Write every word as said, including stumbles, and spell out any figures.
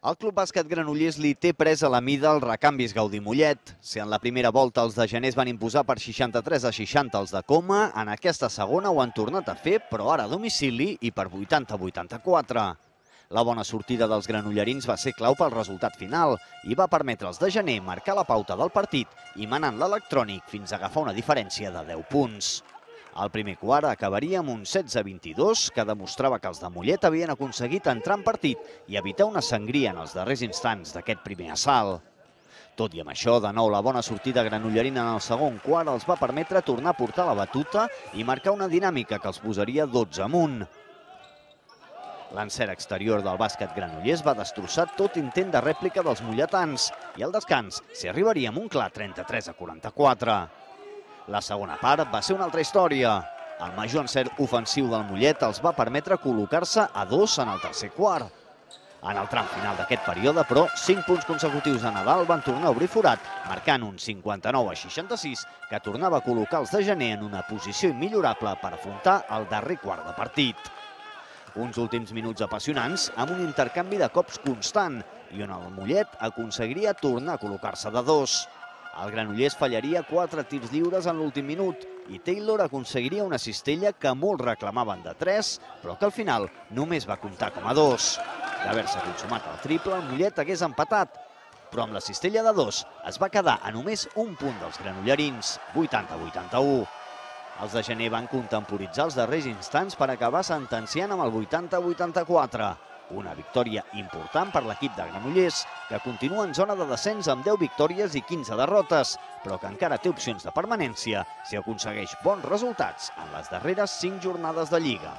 El Club Bàsquet Granollers li té pres a la mida els recanvis Gaudí Mollet. Si en la primera volta els de Gener es van imposar per seixanta-tres a seixanta els de Coma, en aquesta segona ho han tornat a fer, però ara a domicili i per vuitanta a vuitanta-quatre. La bona sortida dels granollerins va ser clau pel resultat final i va permetre als de Gener marcar la pauta del partit i manant l'electrònic fins a agafar una diferència de deu punts. El primer quart acabaria amb un setze a vint-i-dos, que demostrava que els de Mollet havien aconseguit entrar en partit i evitar una sangria en els darrers instants d'aquest primer assalt. Tot i amb això, de nou la bona sortida granollerina en el segon quart els va permetre tornar a portar la batuta i marcar una dinàmica que els posaria dotze amunt. L'encert exterior del bàsquet granollers va destrossar tot intent de rèplica dels molletans i al descans s'hi arribaria amb un clar trenta-tres a quaranta-quatre. La segona part va ser una altra història. El major encert ofensiu del Mollet els va permetre col·locar-se a dos en el tercer quart. En el tram final d'aquest període, però, cinc punts consecutius de Nadal van tornar a obrir forat, marcant un cinquanta-nou a seixanta-sis, que tornava a col·locar els de Gener en una posició immillorable per afrontar el darrer quart de partit. Uns últims minuts apassionants amb un intercanvi de cops constant i on el Mollet aconseguiria tornar a col·locar-se de dos. El Granollers fallaria quatre tirs lliures en l'últim minut i Taylor aconseguiria una cistella que molts reclamaven de tres, però que al final només va comptar com a dos. D'haver-se consumat el triple, el Mollet hagués empatat, però amb la cistella de dos es va quedar a només un punt dels granollerins, vuitanta a vuitanta-u. Els de Gener van contemporitzar els darrers instants per acabar sentenciant amb el vuitanta a vuitanta-quatre. Una victòria important per l'equip de Granollers, que continua en zona de descens amb deu victòries i quinze derrotes, però que encara té opcions de permanència si aconsegueix bons resultats en les darreres cinc jornades de Lliga.